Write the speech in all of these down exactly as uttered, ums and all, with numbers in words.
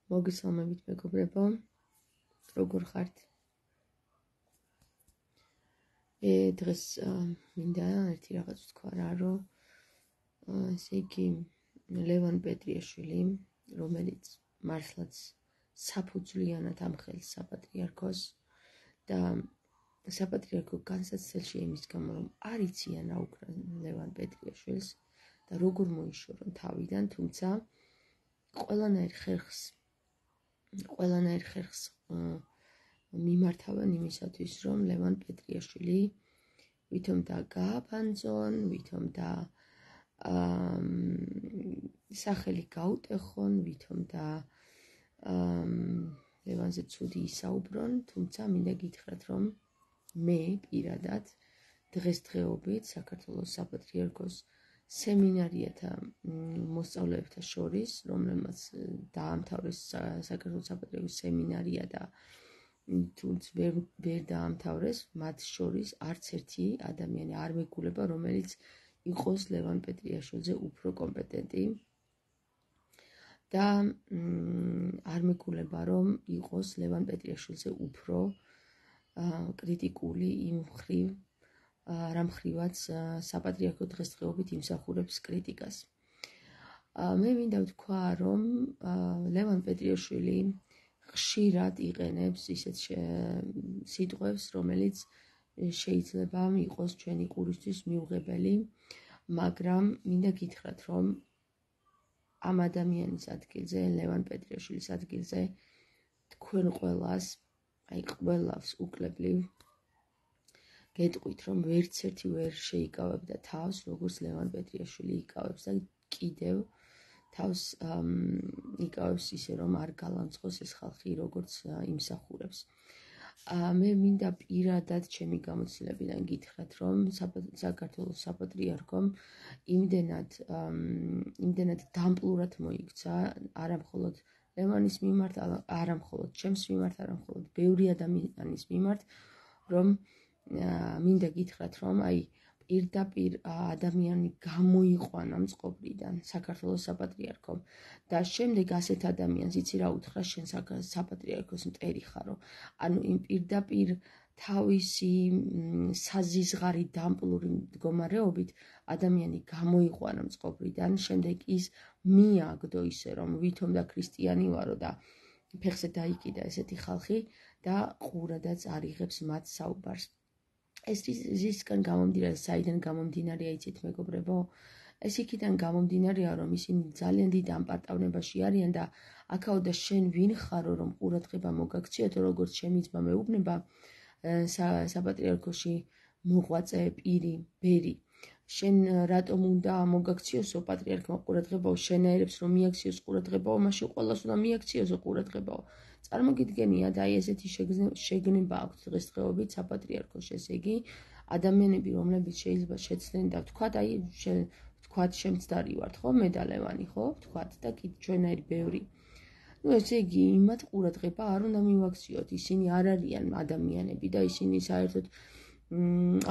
მოგესალმებით მეგობრებო, როგორ ხართ? ე დღეს მინდა ერთი რაღაც ვთქვა რა, რომ ესე იგი ლევან პეტრიაშვილი, რომელიც მართლაც საფუძვლიანად ამხელს საპატრიარქოს და საპატრიარქო განსაცდელში იმის გამო, რომ არ იციან რა უკრა ლევან პეტრიაშვილს და როგორ მოიშორონ თავიდან, თუმცა ყველანაირ ხერხს ყველანაირ ხერხს მიმართავენ იმისათვის, რომ ლევან პეტრიაშვილი ვითომ და გააბანძონ, ვითომ და სახელი გაუტეხონ, ვითომ და ლევანზე ცუდი ისაუბრონ, თუმცა მინდა გითხრათ, რომ მე პირადად დღესდღეობით საქართველოს საპატრიარქოს სემინარიათა მოსწავლეებთა შორის, რომელმაც დაამთავრეს საქართველოს საპატრიარქოს სემინარია და თუნდაც ვერ ვერ დაამთავრეს, მათ შორის არც ერთი ადამიანი არ მეგულება, რომელიც იყოს ლევან პეტრიაშვილზე უფრო კომპეტენტი და არ მეგულება, რომ იყოს ლევან პეტრიაშვილზე უფრო კრიტიკული იმ მხრივ, რამ ხრივაც საპატრიარქო დღესდღეობით იმსახურებს კრიტიკას. მე მინდა ვთქვა, რომ ლევან პეტრიაშვილი ხშირად იყენებს ისეთ სიტყვებს, რომელიც შეიძლება იყოს ჩვენი ყურისთვის მიუღებელი, მაგრამ მინდა გითხრათ, რომ ამ ადამიანის ადგილზე, ლევან პეტრიაშვილის ადგილზე თქვენ ყველას, აი ყველავს უკლებლივ გეტყვით, რომ ვერც ერთი ვერ შეიკავებდა თავს, როგორც ლევან პეტრიაშვილი იკავებს და კიდევ თავს იკავებს ისე, რომ არ გალანძღოს ეს ხალხი, როგორც იმსახურებს. მე მინდა პირადად ჩემი გამოცდილებიდან გითხრათ, რომ საქართველოს საპატრიარქომ იმდენად იმდენად დამპლურად მოიქცა, არა მხოლოდ ლევანის მიმართ, არა მხოლოდ ჩემს მიმართ, არა მხოლოდ ბევრი ადამიანის მიმართ, რომ მინდა გითხრათ, რომ აი პირდაპირ ადამიანი გამოიყვანა მწყობრიდან საქართველოს საპატრიარქომ და შემდეგ ასეთ ადამიანს იცი რა უთხრა, შენ საპატრიარქოს მტერი ხარო. ანუ იმ პირდაპირ თავისი საზიზღარი დამპლური მდგომარეობით ადამიანი გამოიყვანა მწყობრიდან, შემდეგ ის მიაგდო ისე, რომ ვითომ და ქრისტიანი ვარო და ფეხზე დაიკიდა ესეთი ხალხი და ყურადაც არ იღებს მათ საუბარს. ეს ისისგან გამომდინარე, საიდან გამომდინარეა იცით მეგობრებო? ეს იქიდან გამომდინარეა, რომ ისინი ძალიან დიდ ამპარტავნებაში არიან და აქაო და შენ ვინ ხარო, რომ ყურადღება მოგაქციათო, როგორც ჩემი ძმა მეუბნება საპატრიარქოში მოღვაწე პირი, ბერი. შენ რატომ უნდა მოგაქციოსო პატრიარქმა ყურადღებაო, შენაერებს რომ მიაქციოს ყურადღებაო, მაშინ ყველას უნდა მიაქციოსო ყურადღებაო. წარმოგიდგენიათ, აი ესეთი შეგნება აქვთ დღესდღეობით საპატრიარქოში, ესე იგი ადამიანები, რომლებიც შეიძლება შეცდნენ და ვთქვათ, აი ვთქვათ შემცდარი ვართ, ხო, მე და ლევანი, ხო, ვთქვათ და კიდე ჩვენაირი ბევრი. ნუ ესე იგი იმათ ყურადღება არ უნდა მივაქციოთ, ისინი არ არიან ადამიანები და ისინი საერთოდ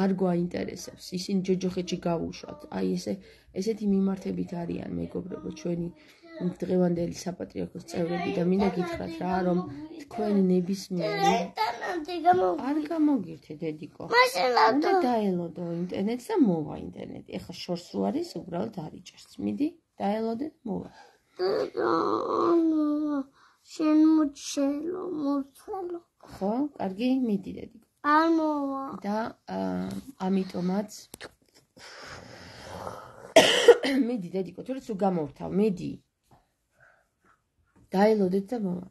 არ გვაინტერესებს, ისინი ჯოჯოხეთში გავუშვათ. აი ესე ესეთი მიმართებით არიან მეგობრებო ჩვენი დღევანდელი საპატრიარქოს წევრები და მინდა გითხრათ რა, რომ თქვენ ნებისმიერი არ გამოგირთე დედიკო. უნდა დაელოდო ინტერნეტს და მოვა ინტერნეტი. ეხლა შორს რო არის, უბრალოდ არიჭერს. მიდი, დაელოდე და მოვა. შენ მოჩელო, მოწელო. ხო, კარგი, მიდი დედიკო. არ მოვა. და ამიტომაც მიდი დედიკო, თორეც რო გამოვთავ, მიდი. დაელოდეთ და მოვა.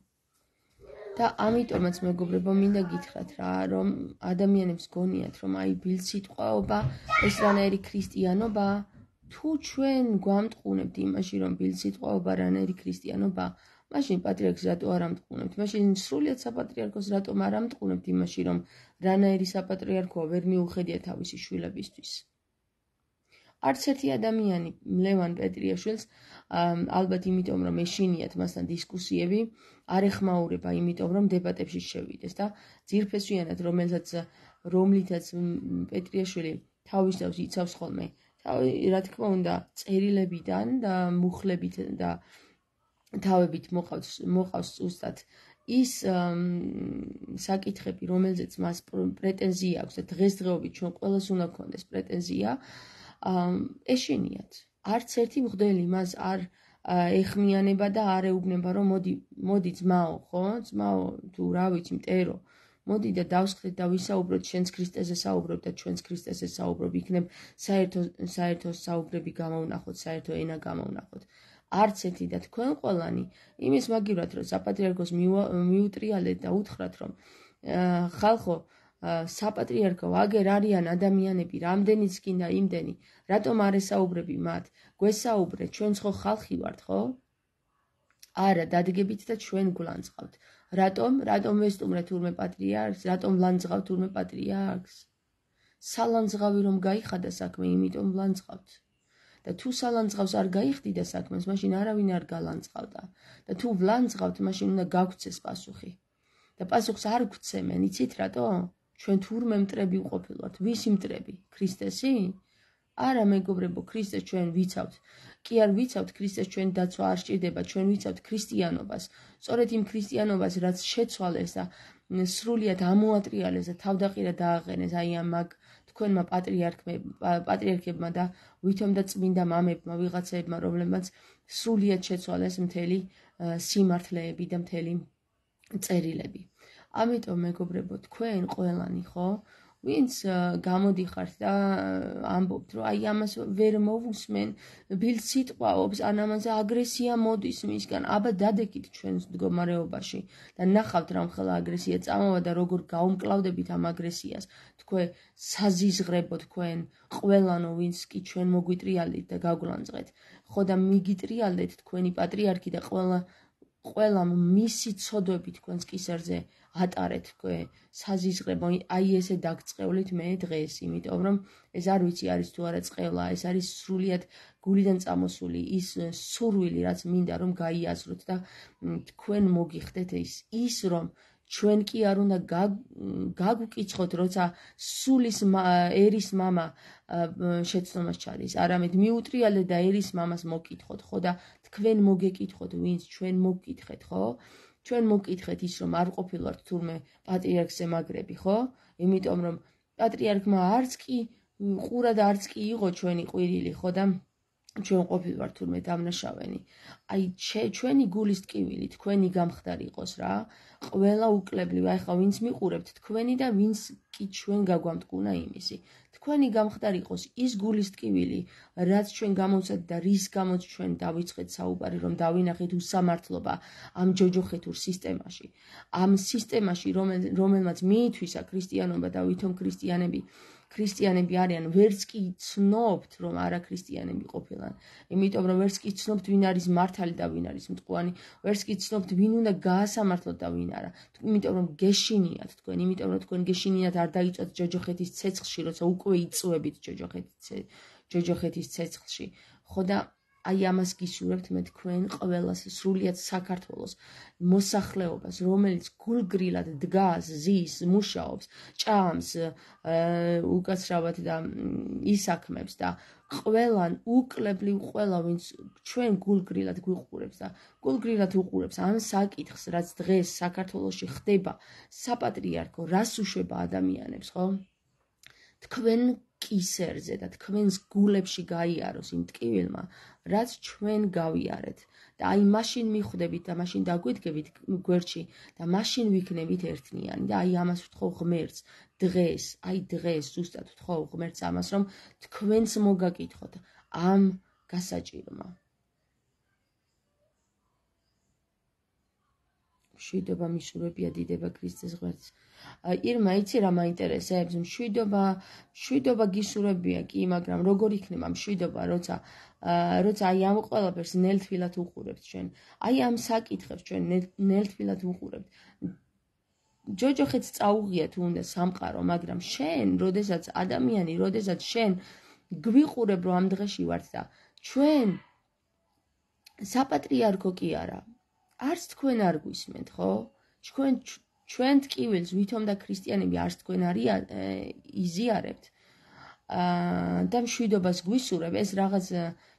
და ამიტომაც მეგობრებო, მინდა გითხრათ რა, რომ ადამიანებს გონიათ, რომ აი ბილსიტყვაობა, ეს რანაირი ქრისტიანობა, თუ ჩვენ გვამტყუნებთ იმაში, რომ ბილსიტყვაობა რანაირი ქრისტიანობა, მაშინ პატრიარქს რატო არ ამტყუნებთ? მაშინ სრულიად საპატრიარქოს რატომ არ ამტყუნებთ იმაში, რომ რანაირი საპატრიარქოა ვერ მიუხედია თავისი შვილებისთვის? არც ერთი ადამიანი ლევან პეტრიაშვილს, ალბათ იმიტომ, რომ ეშინიათ მასთან დისკუსიები, არ ეხმაურება იმიტომ, რომ დებატებში შევიდეს და ძირფესვიანად, რომელსაც რომლითაც პეტრიაშვილი თავის თავს იცავს ხოლმე, რა თქმა უნდა, წერილებიდან და მუხლებით და თავებით მოყავს მოყავს ზუსტად ის საკითხები, რომელზეც მას პრეტენზია აქვს და დღესდღეობით ჩვენ ყველას უნდა გქონდეს პრეტენზია, ეშინიათ. არც ერთი მღვდელი მას არ ეხმიანება და არ ეუბნება, რომ მოდი, მოდი ძმაო, ხო? ძმაო, თუ რა ვიცი, მტერო, მოდი და დავსხდეთ და ვისაუბროთ, შენს ქრისტეზე საუბრობ და ჩვენს ქრისტეზე საუბრობ, იქნებ საერთო საერთო საუბრები გამოვნახოთ, საერთო ენა გამოვნახოთ. არც ერთი და თქვენ ყველანი იმის მაგივრად, რომ საპატრიარქოს მიუტრიალეთ და უთხრათ, რომ ხალხო, საპატრიარქო, აგერ არიან ადამიანები, რამდენიც გინდა იმდენი, რატომ არ ესაუბრები მათ? გვესაუბრეთ, ჩვენც ხო ხალხი ვართ, ხო? არა, დადგებით და ჩვენ გვლანძღავთ. რატომ? რატომ ვესტუმრეთ თურმე პატრიარქს? რატომ ვლანძღავთ თურმე პატრიარქს? სალანძღავი რომ გაიხადა საქმე, იმიტომ ვლანძღავთ. და თუ სალანძღავს არ გაიხდიდა საქმეს, მაშინ არავინ არ გალანძღავდა. და თუ ვლანძღავთ, მაშინ უნდა გაგცეს პასუხი. და პასუხს არ გვცემენ, იცით რატო? ჩვენ თურმე მტრები ვყოფილვართ. ვისი მტრები? ქრისტესი? არა, მეგობრებო, ქრისტეს ჩვენ ვიცავთ. კი არ ვიცავთ ქრისტეს ჩვენ დაცვა არ სჭირდება, ჩვენ ვიცავთ ქრისტიანობას. სწორედ იმ ქრისტიანობას, რაც შეცვალეს და სრულიად ამოატრიალეს და თავდაყირა დააყენეს აი ამ მაგ თქვენმა პატრიარქებმა და ვითომ და წმინდა მამებმა, ვიღაცებმა, რომლებმაც სრულიად შეცვალეს მთელი სიმართლეები და მთელი წერილები. ამიტომ მეგობრებო, თქვენ ყველანი, ხო? ვინც გამოდიხართ და ამბობთ, რომ აი ამას ვერ მოვუსმენ, ბილდ სიტყვაობს, ან ამაზე აგრესია მოდის მისგან. აბა დადეკით ჩვენს მდგომარეობაში და ნახავთ რამ ხელა აგრესია წამოვა და როგორ გაუმკლავდებით ამ აგრესიას. თქვენ საზიზღრებო თქვენ ყველანო, ვინც კი ჩვენ მოგვიტრიალდით და გაგვლანძღეთ. ხო და მიგიტრიალდეთ თქვენი პატრიარქი და ყველა ყველა მისი ცოდვები თქვენს კისერზე ატარეთ თქვენ საზიზღრებო, აი ესე დაგწყევლით მე დღეს, იმიტომ რომ ეს არ ვიცი არის თუ არა წყევლა, ეს არის სრულიად გულიდან წამოსული ის სურვილი, რაც მინდა რომ გაიაზროთ და თქვენ მოგიხდეთ ის ის რომ ჩვენ კი არ უნდა გაგვკიცხოთ, როცა სულის ერის მამა შეცდომას ჩადის, არამედ მიუტრიალეთ და ერის მამას მოგკითხოთ, ხო და თქვენ მოგეკითხოთ, ვინც ჩვენ მოგკითხეთ, ხო? ჩვენ მოგკითხეთ ის, რომ არ ყოფილვართ თურმე პატრიარქზე მაგრები, ხო? იმიტომ რომ პატრიარქმა არც კი ყურა და არც კი იყო ჩვენი ყვირილი, ხო და ჩვენ ყოფილვართ თურმე დამნაშავენი. აი ჩვენი გულის ტკივილი, თქვენი გამხდარი იყოს რა. ყველა უკლებლივ, აი ხა ვინც მიყურებთ თქვენი და ვინც კი ჩვენ გაგვამტკუნა იმისი. თქვენი გამხდარი იყოს ის გულის ტკივილი, რაც ჩვენ გამოვცეთ და რის გამოც ჩვენ დავიწყეთ საუბარი, რომ დავინახეთ უსამართლობა ამ ჯოჯოხეთურ სისტემაში. ამ სისტემაში, რომელმაც მიითვისა ქრისტიანობა და ვითომ ქრისტიანები ქრისტიანები არიან, ვერც კი ცნობთ, რომ არა ქრისტიანები ყოფილან. იმიტომ რომ ვერც კი ცნობთ, ვინ არის მართალი და ვინ არის მტყუანი, ვერც კი ცნობთ, ვინ უნდა გაასამართლოთ და ვინ არა. იმიტომ რომ გეშინიათ თქვენ, იმიტომ რომ თქვენ გეშინიათ არ დაიწვათ ჯოჯოხეთის ცეცხლში, როცა უკვე იწვევით ჯოჯოხეთის ცეცხლში. ხო და აი ამას გისურვებთ მე თქვენ ყველას სრულიად საქართველოს მოსახლეობას, რომელიც გულგრილად დგას, ზის, მუშაობს, ჭამს, უკაცრავად და ისაქმებს და ყველან უკლებლივ ყველა ვინც ჩვენ გულგრილად გვიყურებს და გულგრილად უყურებს ამ საკითხს, რაც დღეს საქართველოში ხდება, საპატრიარქო რას უშვება ადამიანებს, ხო? თქვენ კისერზე და თქვენს გულებში გაიაროს იმ ტკივილმა, რაც ჩვენ გავიარეთ და აი მაშინ მიხვდებით და მაშინ დაგვიდგებით გვერდში და მაშინ ვიქნებით ერთნიანი და აი ამას ვთხოვ ღმერთს დღეს, აი დღეს ზუსტად ვთხოვ ღმერთს ამას, რომ თქვენს მოგაკითხოთ ამ გასაჭირმა. მშვიდობა მისურვებია დიდება ქრისტეს ღმერთს. ირმა, იცი რა მაინტერესებს? მშვიდობა, მშვიდობა გისურვებია კი, მაგრამ როგორ იქნება მშვიდობა, როცა როცა აი ამ ყველაფერს ნელთბილად უყურებთ ჩვენ. აი ამ საკითხებს ჩვენ ნელთბილად უყურებთ. ჯოჯოხეთს წაუღია თუ უნდა სამყარო, მაგრამ შენ, როდესაც ადამიანი, როდესაც შენ გვიყურებ, რომ ამ დღეში ვართ და ჩვენ საპატრიარქო კი არა. არც თქვენ არ გვისმენთ, ხო? ჩვენ ჩვენ ტკივილს ვითომ და ქრისტიანები არც თქვენ არ იზიარებთ და მშვიდობას გვისურვებ, ეს რაღაც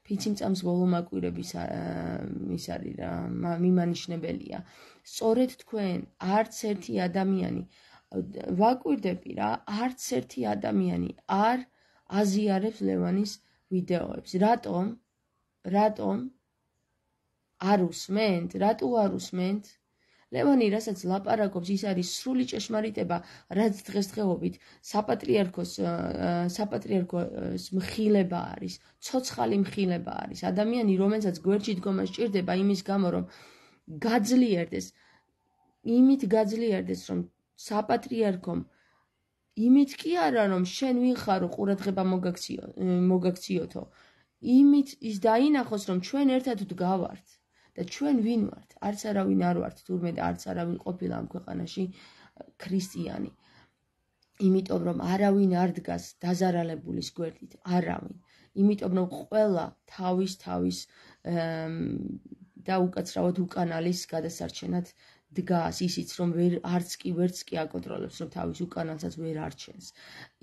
ფიციმწამს ბოლომაკვირების ის არის რა, მიმანიშნებელია. სწორედ თქვენ არც ერთი ადამიანი ვაკვირდები რა, არც ერთი ადამიანი არ აზიარებს ლევანის ვიდეოებს. რატომ? რატომ? არ უსმენთ? რატო არ უსმენთ? ლევანი რასაც ლაპარაკობს, ის არის სრული ჭეშმარიტება, რაც დღესდღეობით საპატრიარქოს საპატრიარქოს მხილება არის, ცოცხალი მხილება არის. ადამიანი, რომელსაც გვერდში დგომა სჭირდება იმის გამო, რომ გაძლიერდეს, იმით გაძლიერდეს, რომ საპატრიარქომ იმით კი არა, რომ შენ ვიხარო ყურადღება მოგაქციოთო, იმით ის დაინახოს, რომ ჩვენ ერთად ვდგავართ. და ჩვენ ვინ ვართ? არც არავინ არ ვართ, თურმე და არც არავინ ყოფილა ამ ქვეყანაში ქრისტიანი. იმიტომ რომ არავინ არ დგას დაზარალებულის გვერდით, არავინ. იმიტომ რომ ყველა თავის თავის და უკაცრავად უკანალის გადასარჩენად დგას, ისიც რომ ვერ არც კი ვერც კი აკონტროლებს, რომ თავის უკანალსაც ვერ არჩენს.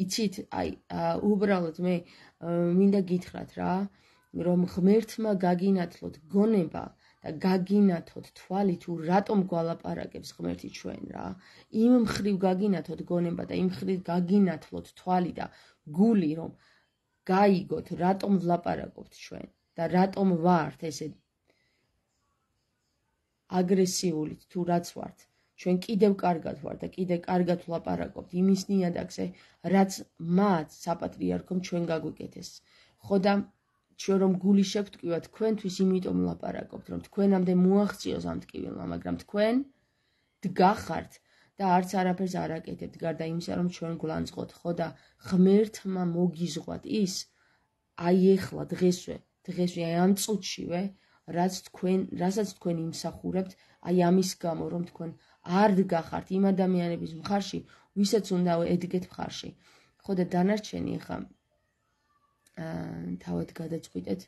იცით, აი, უბრალოდ მე მინდა გითხრათ რა, რომ ღმერთმა გაგინათლოთ გონება და გაგინათოთ თვალი თუ რატომ გვალაპარაკებს ღმერთი ჩვენ რა. იმ მხრივ გაგინათოთ გონება და იმ მხრივ გაგინათლოთ თვალი და გული, რომ გაიგოთ რატომ ვლაპარაკობთ ჩვენ და რატომ ვართ ესე აგრესიული თუ რაც ვართ. ჩვენ კიდევ კარგად ვართ და კიდევ კარგად ვლაპარაკობთ იმის ნიადაგზე, რაც მათ საპატრიარქომ ჩვენ გაგვიკეთეს. ხო და ჩვენ რომ გული შევტკივა თქვენთვის, იმიტომ ვლაპარაკობთ, რომ თქვენამდე მოაღწიოს ამ ტკივილმა, მაგრამ თქვენ დგახართ და არც არაფერს არ აკეთებთ, გარდა იმისა, რომ ჩვენ გვლანძღოთ. ხო და ღმერთმა მოგიზღვათ ის, აი ეხლა დღესვე, დღესვე აი ამ წუთშივე, რაც თქვენ, რასაც თქვენ იმსახურებთ, აი ამის გამო, რომ თქვენ არ დგახართ იმ ადამიანების მხარში, ვისაც უნდა ედგეთ მხარში. ხო და დანარჩენი ხა თავად გადაწყვიტეთ,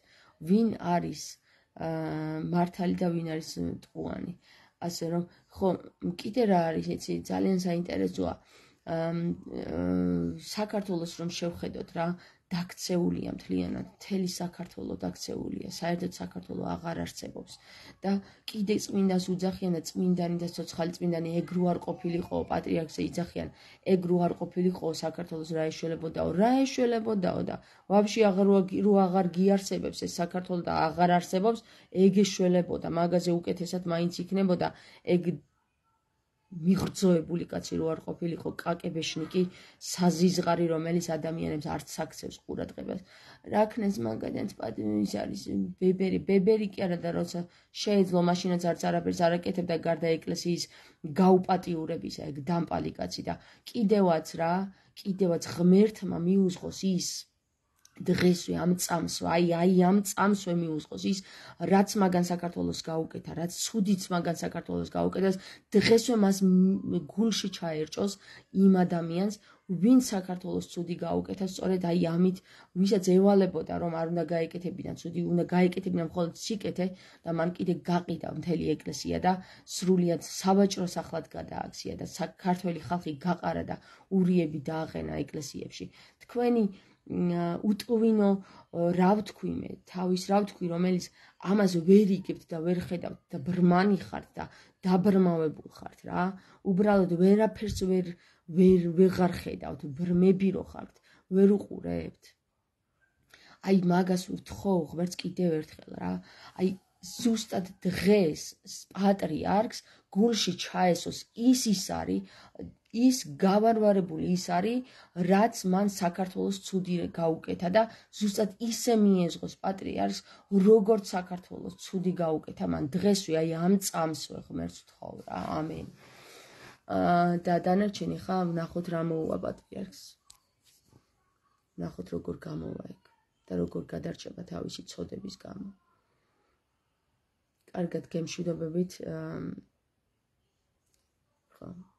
ვინ არის მართალი და ვინ არის ტყუანი. ასე რომ, ხო, კიდე რა არის, იცი, ძალიან საინტერესოა. საქართველოს რომ შევხედოთ რა, დაქცეულია მთლიანად, მთელი საქართველო დაქცეულია, საერთოდ საქართველო აღარ არსებობს. და კიდე წმინდას უძახიან და წმინდანი და ცოცხალი წმინდანი ეგ რო არ ყოფილიყო, პატრიარქზე იძახიან, ეგ რო არ ყოფილიყო საქართველოს რა ეშველებოდაო, რა ეშველებოდაო და ვაფშე აღარ რო აღარ გიარსებებს ეს საქართველო და აღარ არსებობს, ეგ ეშველებოდა, მაგაზე უკეთესად მაინც იქნებოდა ეგ მიღრძოებული კაცი რო არ ყოფილიყო, კაკებეშნიკი, საზიზღარი, რომელიც ადამიანებს არც აქცევს ყურადღებას. რა ქნეს მაგალითად ის არის ბებერი, ბებერი კი არა და როცა შეეძლო, მაშინაც არც არაფერს არ აკეთებდა გარდა ეკლესიის გაუპატიურებისა, ეგ დამპალი კაცი და კიდევაც რა, კიდევაც ღმერთმა მიუძღოს ის დღესვე ამ წამსვე, აი აი ამ წამსვე მიუძღოს ის, რაც მაგან საქართველოს გაუკეთა, რაც ცუდიც მაგან საქართველოს გაუკეთეს, დღესვე მას გულში ჩაერჭოს იმ ადამიანს, ვინ საქართველოს ცუდი გაუკეთა, სწორედ აი ამით, ვისაც ევალებოდა, რომ არ უნდა გაეკეთებინა ცუდი, უნდა გაეკეთებინა მხოლოდ სიკეთე და მან კიდე გაყიდა მთელი ეკლესია და სრულიად სავაჭრო სახლად გადააქცია და ქართველი ხალხი გაყარა და ურიები დააყენა ეკლესიებში. თქვენი უტყვინო რა ვთქვი მე, თავის რა ვთქვი, რომელიც ამას ვერ იგებთ და ვერ ხედავთ და ბრმანი ხართ და დაბრმავებულ ხართ რა. უბრალოდ ვერაფერს ვერ ვერ ვეღარ ხედავთ, ბრმები რო ხართ, ვერ უყურებთ. აი მაგას ვთხოვ ღმერთს კიდევ ერთხელ რა. აი ზუსტად დღეს პატრიარქს გულში ჩაესოს ის ის არის, ის გავარვარებული ის არის, რაც მან საქართველოს ცუდი გაუკეთა და ზუსტად ისე მიეზღოს პატრიარქს, როგორც საქართველოს ცუდი გაუკეთა მან დღესვე, აი ამ წამსვე ღმერთს ვთხოვ რა, ამენ. და დანარჩენი ხა ვნახოთ რა მოუვა პატრიარქს. ვნახოთ როგორ გამოვა ეგ და როგორ გადარჩება თავისი ცოდების გამო. კარგად გემშვიდობებით. ხო